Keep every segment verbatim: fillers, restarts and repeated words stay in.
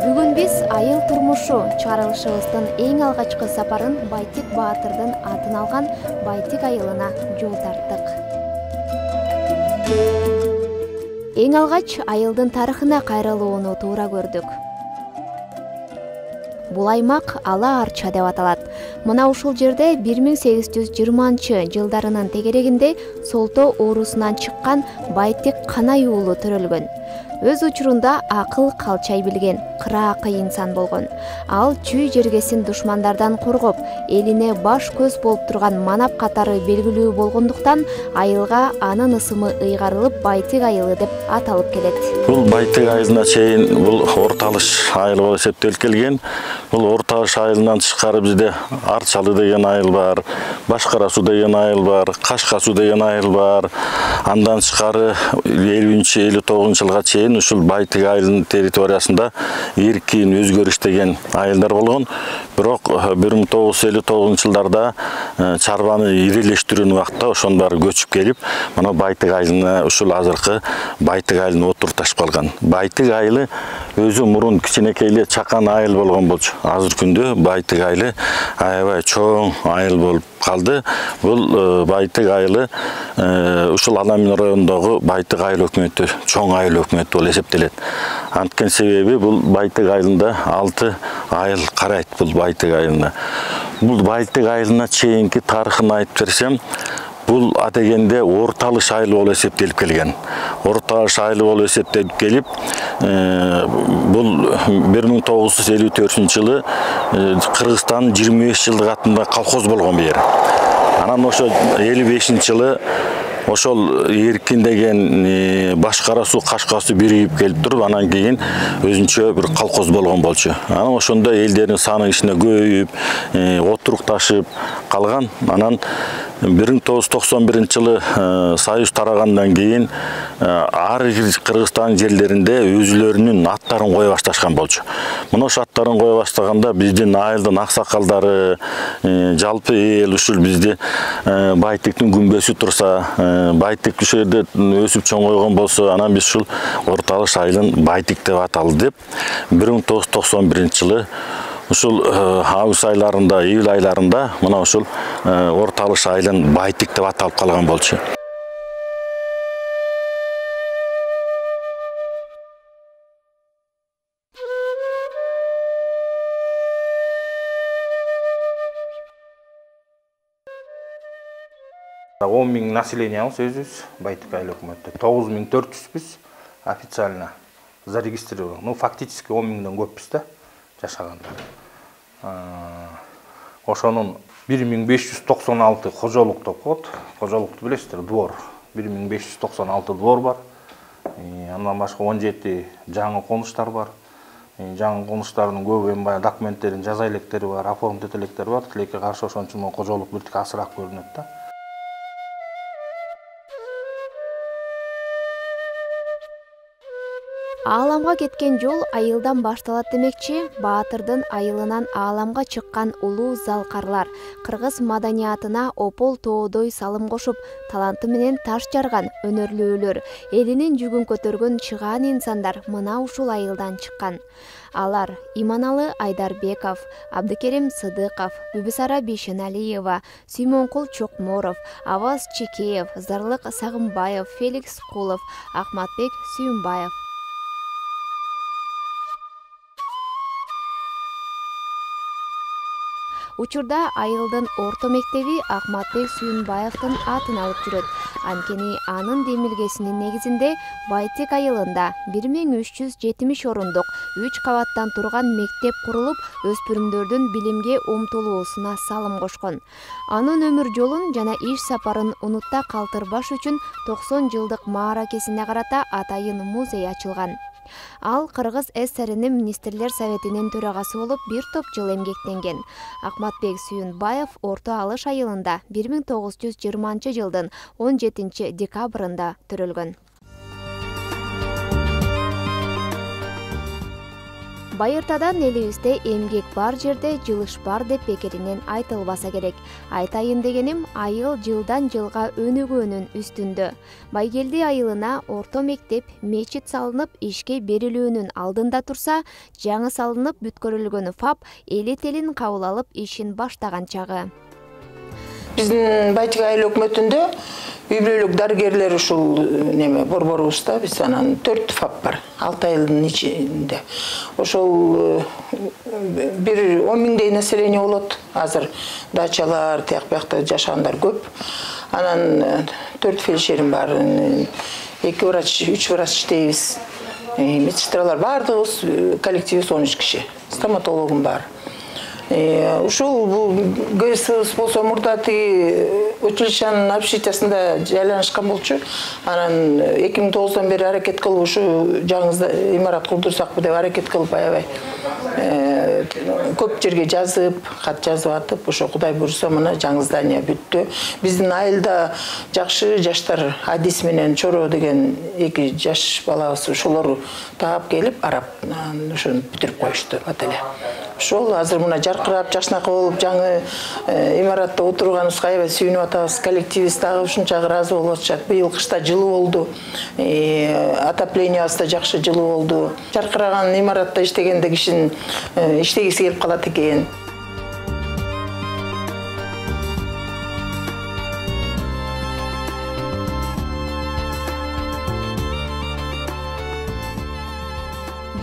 Бүгүн биз айыл турмушу чыгарылышыбыздын эң алгачкы сапарын Байтик Баатырдын атын алган Байтик айылына жол тарттык. Эң алгач айылдын тарыхына кайрылууну туура көрдүк. Бул аймак Ала Арча деп аталат. Мына ушул жерде бир миң сегиз жүз жыйырманчы жылдарынын тегерегинде Солто оорусунан чыккан Байтик Канай уулу төрөлгөн. Өз учурунда акыл калчай билген, кыраакы инсан болгон. Ал чүй жергесин душмандардан коргоп, элине баш көз болуп турган манап катары белгилүү болгондуктан айылга анын ысымы ыйгарылып Байтик айылы деп аталып келет. Бул Байтик айылына чейин бул Орталыш айылы болуп эсептелип келген. Бул Орталыш айылынан тышкары бизде Арчалы деген айыл бар, Башкара суу деген айыл бар, Кашка суу деген айыл бар. Андан тышкары элүүнчү элүү тогузунчу жылга чейин ушул Байтик айылынын территориясында эркин өзгөрүш деген айылдар болгон. Бирок бир миң тогуз жүз элүү тогузунчу жылдарда чарбаны ирелештирүүнүн убактында ошонун баары көчүп келип, мына Байтик айылына ушул азыркы Байтик айылына отурташып калган. Байтик айылы өзү мурун кичинекей эле чакан айыл болгон болчу. Азыр күндө Байтик айылы аябай чоң айыл болуп калды. Бул Байтик айылы ушул Аламин районундагы Байтик айыл өкмөтү, чоң айыл өкмөтү болуп эсептелет. Анткени себеби бул Байтик айылында алты айыл карайт бул Байтик айылына. Бул Байтик айылына чейинки тарыхын айтып берсем, бул адегенде Орталыш айылы болуп эсептелип келген. Орталыш айылы болуп эсептелип келип, бул бир миң тогуз жүз элүү төртүнчү жылы Кыргызстандын жыйырма беш жылдык атында колхоз болгон бу жер. Анан ошо элүү бешинчи жылы ошол Эркин деген Башкара суу, Кашка суу биригип келип туруп, анан кийин өзүнчө бир колхоз болгон болчу. Анан ошондо элдердин саны кичине көбөйүп, отурукташып калган. Анан бир миң тогуз жүз токсон биринчи жылы Союз тарагандан кийин ар бир Кыргызстан жерлеринде өзүлөрүнүн аттарын кое башташкан болчу. Мына ошо аттарын кое баштаганда биздин айылдын аксакалдары, жалпы эл ушул бизди Байтиктин күмбөзү турса, Байтик ушул жерде өсүп чоңойгон болсо, анан биз ушул Орталыш айылын Байтик деп аталы деп бир миң тогуз жүз токсон биринчи жылы ушул август айларында, июль айларында мына ушул Орталыш айылын Байтик деп аталып калган болчу. он миң населениябыз өзүбүз Байтик айыл өкмөтү. тогуз миң төрт жүзбүз официально зарегистрирован. Ну, фактически он миңден көппүз да жашагандар. Ошонун бир миң беш жүз токсон алты кожолук деп коет. Кожолукту билесиздер, двор. бир миң беш жүз токсон алты двор бар. Андан башка он жети жаңы конуштар бар. Жаңы конуштардын көбү эми баягы документтерин жаза электери бар, оформить эте электери бар. Тилекке каршы ошон үчүн кожолук бир тик асыраак көрүнөт да. Ааламга кеткен жол айылдан башталат демекчи, Баатырдын айылынан ааламга чыккан улуу залкарлар кыргыз маданиятына опол тоодой салым кошуп, таланты менен таш жарган өнөрлүүлөр, элинин жүгүн көтөргөн чыгаан инсандар мына ушул айылдан чыккан. Алар Иманалы Айдарбеков, Абдыкерим Сыдыков, Бүбүсара Бишеналиева, Сүймөнкул Чокморов, Аваз Чекеев, Зарлык Сагымбаев, Феликс Кулов, Ахматбек Сүйүнбаев. Учурда айылдын орто мектеби Ахматбек Сүйүнбаевдин атын алып жүрөт. Анткени анын демилгесинин негизинде Байтик айылында бир миң үч жүз жетимиш орундук үч кабаттан турган мектеп курулуп, өспүрүмдөрдүн билимге умтулуусуна салым кошкон. Анын өмүр жолун жана иш сапарын унутта калтырбаш үчүн токсон жылдык мааракесине карата атайын музей ачылган. Ал Кыргыз ССРнин министрлер советинин төрагасы болуп бир топ жыл эмгектенген. Ахматбек Сүйүнбаев Орто Алыш айылында бир миң тогуз жүз жыйырманчы жылдын он жетинчи декабрында төрөлгөн. Байыртадан элибизде эмгек бар жерде жылыш бар деп бекеринен айтылбаса керек. Айтайын дегеним, айыл жылдан жылга өнүгүүнүн үстүндө. Байгелди айылына орто мектеп, мечит салынып ишке берилүүнүн алдында турса, жаңы салынып бүткөрүлгөн ФАП эли телин кабыл алып ишин баштаган чагы. Биздин Байтик айыл өкмөтүндө үй бүлөлүк дарыгерлер ушул неме борборубузда биз анан төрт ФАП бар. алты айылдын ичинде. Ошол бир он миңдей население болот. Азыр дачалар, тияк биякта жашагандар көп. Анан төрт фельдшерим бар. эки врач, үч врач иштейбиз. Медсестралар бардыгыбыз коллективибиз он үч киши. Стоматологум бар. Ушул бул ГСС болсо мурда тиги училищанын общежитиясында жайланышкан болчу. Анан эки миң тогуздан бери аракет кылып ушу жаңы имарат курдурсакпы деп аракет кылып аябай көп жерге жазып, кат жазып атып, ошо Кудай буйрса мына жаңы здание бүттү. Биздин айылда жакшы жаштар Адис менен Чоро деген эки жаш балабыз ошолор таап келип арап ошону бүтүрүп коюшту бат эле. Ошол азыр мына жаркырап, жашнакы болуп, жаңы имаратта отурганыбызга аябай сүйүнүп атабыз. Коллективибиз дагы ушунча ыраазы болуп атышат. Быйыл кышта жылуу болду. Отоплениябыз да жакшы жылуу болду. Жаркыраган имаратта иштегенде кишинин иштегиси келип калат экен.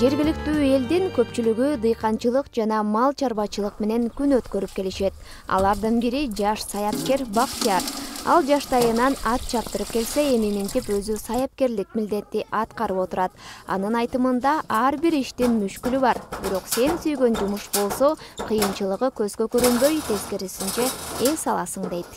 Жергиликтүү элдин көпчүлүгү дыйканчылык жана мал чарбачылык менен күн өткөрүп келишет. Алардын бири жаш саяпкер Бактияр. Ал жаштайынан ат чаптырып келсе, эми минтип өзү саяпкерлик милдетти аткарып отурат. Анын айтымында ар бир иштин мүшкүлү бар. Бирок сен сүйгөн жумуш болсо, кыйынчылыгы көзгө көрүнбөй, тескерисинче эс аласың дейт.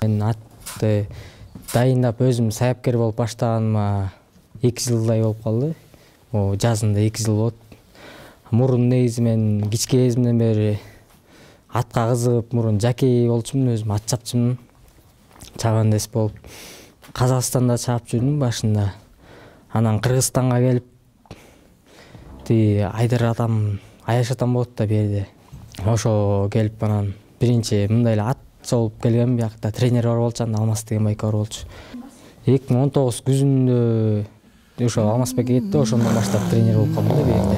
Мен атты дайындап өзүм саяпкер болуп баштаганыма эки жылдай болуп калды. О, жазында эки жыл болот. Мурун негизи мен кичке кезимден бери атка кызыгып, мурун жакей болчумун, өзүм ат чапчумун. Чабандес болуп, Казакстанда чаап жүрдүм башында. Анан Кыргызстанга келип, ти Айдар атам, Аяш атам болот да берде. Ошо келип анан биринчи мындай эле ат чогулуп келгем, биякта тренер бар болчу, Алмаз деген байка бар болчу. эки миң он тогуз күзүндө ошо Алмазбек кетти, ошондон баштап тренер болуп калдым да биякта.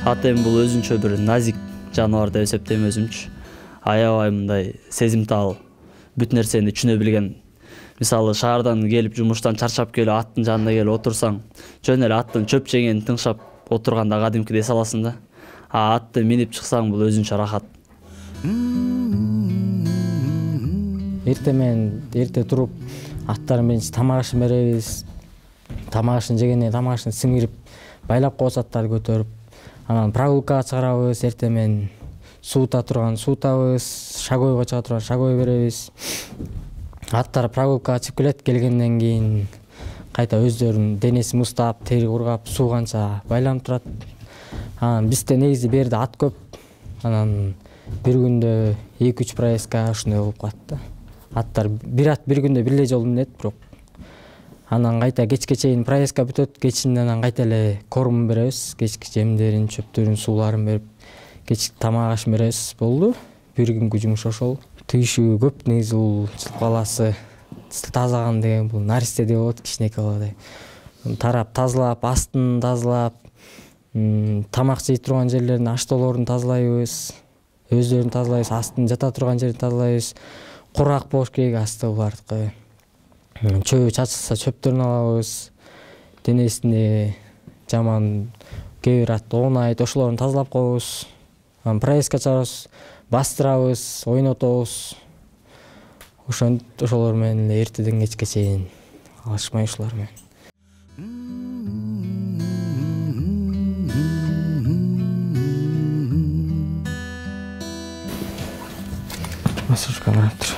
Ат эми бул өзүнчө бир назик жаныбар деп эсептейм өзүмчү. Аябай мындай сезимтал, бүт нерсени түшүнө билген. Мисалы шаардан келип жумуштан чарчап келип аттын жанына келип отурсаң, жөн эле аттын чөп жегенин тыңшап отурганда кадимкидей эс аласың да. А атты минип чыксаң бул өзүнчө рахат. Эрте менен эрте туруп аттардын биринчи тамак ашын беребиз. Тамак ашын жегенде тамак ашын сиңирип, байлап коюп аттарды көтөрүп, анан прогулкага чыгарабыз. Эрте менен суута турган суутабыз, шагойго чыга турган шагой беребиз. Аттар прогулкага чыгып келет, келгенден кийин кайта өздөрүнүн денесин муздап, тери кургап, сууганча байланып турат. Анан бизде негизи берде ат көп. Анан бир күндө эки үч проездка ушундай болуп калат да. Аттар бир ат бир күндө бир эле жолу минет, бирок анан кайта кечке чейин проездка бүтөт. Кечинде анан кайта эле корм беребиз. Кечки жемдерин, чөптөрүн, сууларын берип, кечки тамак ашын беребиз. Болду. Бир күнгү жумуш ошол. Тийишүү көп негизи бул жылкы баласы. Тазаган деген бул наристе деп болот, кичинекей баладай. Тарап тазалап, астын тазалап, тамак жей турган жерлерин, аштоолорун тазалайбыз. Өздөрүн тазалайбыз, астын жата турган жерин тазалайбыз. Курак болуш керек асты булардыкы. Чөбү чачылса чөптөрүн алабыз. Денесине жаман кээ бир ат оонайт, ошолорун тазалап коебуз. Анан проездка чыгарабыз, бастырабыз, ойнотобуз. Ошон ошолор менен эле эртеден кечке чейин алышмай ушулар менен. Масочка карап тур.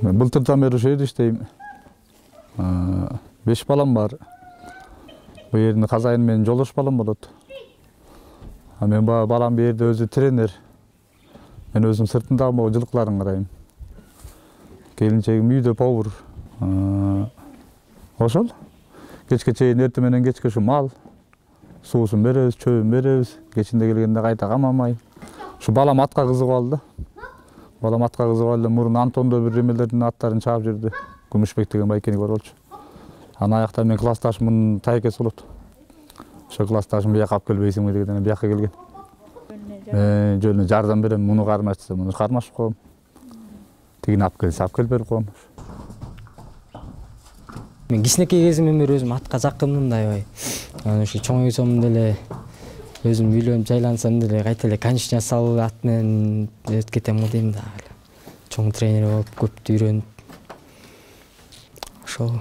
Мен былтырдан бери ошол жерде иштейм. беш балам бар. Бул жердин казайыны менин жолдош балам болот. А мен балам бу жерде өзү тренер. Мен өзүм сыртындагы могу жылкыларын карайм. Келинчегим үйдө повар. Ошол. Кечке чейин эртең менен кечке ушу мал, суусун беребиз, чөбүн беребиз. Кечинде келгенде кайта камамай. Ушу балам атка кызыгып алды. Балам атка кызыгып алды. Мурун Антондо бир эмелердин аттарын чаап жүрдү. Күмүшбек деген байкенек бар болчу. Ана аякта мен классташымдын тайкеси болот. Ошо классташым бияка алып келбейсиңби дегенден бияка келген. Мен жөнүнө жардам берем, муну кармаш десе, муну кармашып коем. Тигини алып келсе, алып келип берип коем. Мен кичинекей кезимден бери өзүм атка жакынмын да аябай. Анан ушу чоңойсом деле өзүм үйлөнүп жайлансам деле кайта эле конечная салып ат менен өтүп кетем го дейм да. Чоң тренер болуп көптү үйрөнүп. Ошол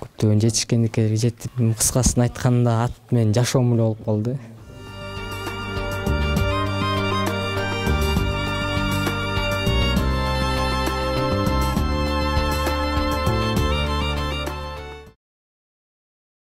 көптөгөн жетишкендикке жетип, кыскасын айтканда ат менен жашоом эле болуп калды.